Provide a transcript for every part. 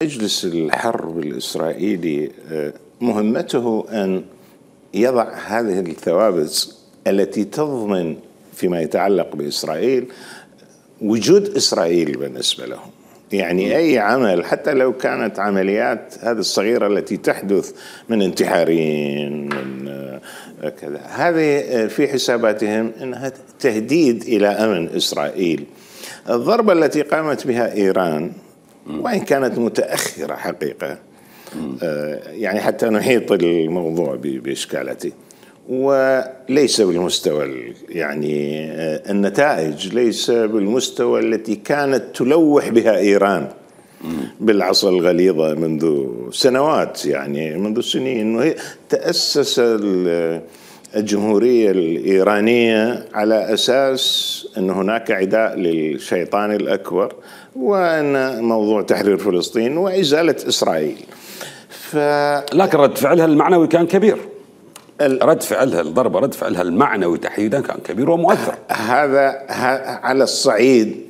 مجلس الحرب الإسرائيلي مهمته أن يضع هذه الثوابت التي تضمن فيما يتعلق بإسرائيل وجود إسرائيل بالنسبة لهم. يعني أي عمل حتى لو كانت عمليات هذه الصغيرة التي تحدث من انتحارين من كذا، هذه في حساباتهم أنها تهديد إلى أمن إسرائيل. الضربة التي قامت بها إيران وإن كانت متأخرة حقيقة، يعني حتى نحيط الموضوع بإشكالته، وليس بالمستوى، يعني النتائج ليس بالمستوى التي كانت تلوح بها إيران بالعصا الغليظة منذ سنوات، يعني منذ سنين. وهي تأسس الجمهورية الإيرانية على أساس أن هناك عداء للشيطان الأكبر، وأن موضوع تحرير فلسطين وإزالة إسرائيل. لكن رد فعلها المعنوي كان كبير. رد فعلها الضربة، رد فعلها المعنوي تحديدا كان كبير ومؤثر. هذا على الصعيد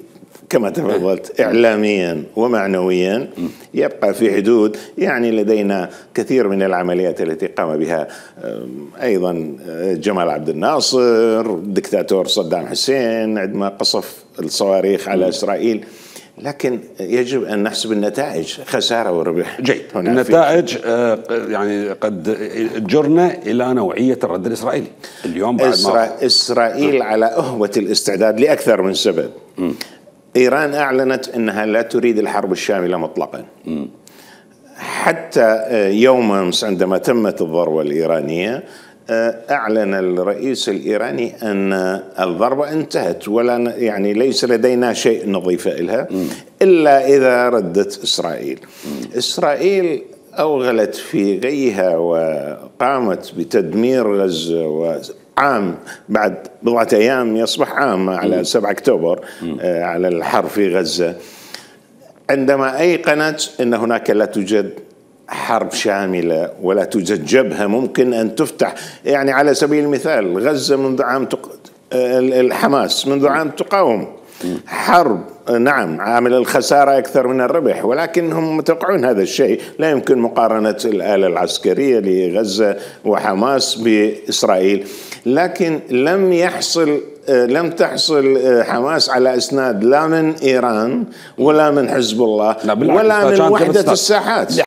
كما تفضلت إعلاميا ومعنويا يبقى في حدود. يعني لدينا كثير من العمليات التي قام بها أيضا جمال عبد الناصر الدكتاتور صدام حسين عندما قصف الصواريخ على إسرائيل، لكن يجب أن نحسب النتائج، خسارة وربح. جيد. النتائج يعني قد جرنا إلى نوعية الرد الإسرائيلي اليوم بعد إسرائيل على أهوة الاستعداد لأكثر من سبب. إيران أعلنت أنها لا تريد الحرب الشاملة مطلقا. حتى يوم أمس عندما تمت الضربة الإيرانية أعلن الرئيس الإيراني أن الضربة انتهت، ولا يعني ليس لدينا شيء نضيف إلها إلا إذا ردت إسرائيل. إسرائيل أوغلت في غيها وقامت بتدمير غزة، وعام بعد بضعة أيام يصبح عام على 7 أكتوبر على الحرب في غزة، عندما أيقنت أن هناك لا توجد حرب شاملة ولا توجد جبهة ممكن أن تفتح. يعني على سبيل المثال غزة منذ عام الحماس منذ عام تقاوم حرب، نعم عامل الخسارة أكثر من الربح، ولكنهم متوقعون هذا الشيء. لا يمكن مقارنة الآلة العسكرية لغزة وحماس بإسرائيل، لكن لم تحصل حماس على إسناد لا من إيران ولا من حزب الله ولا من وحدة الساحات.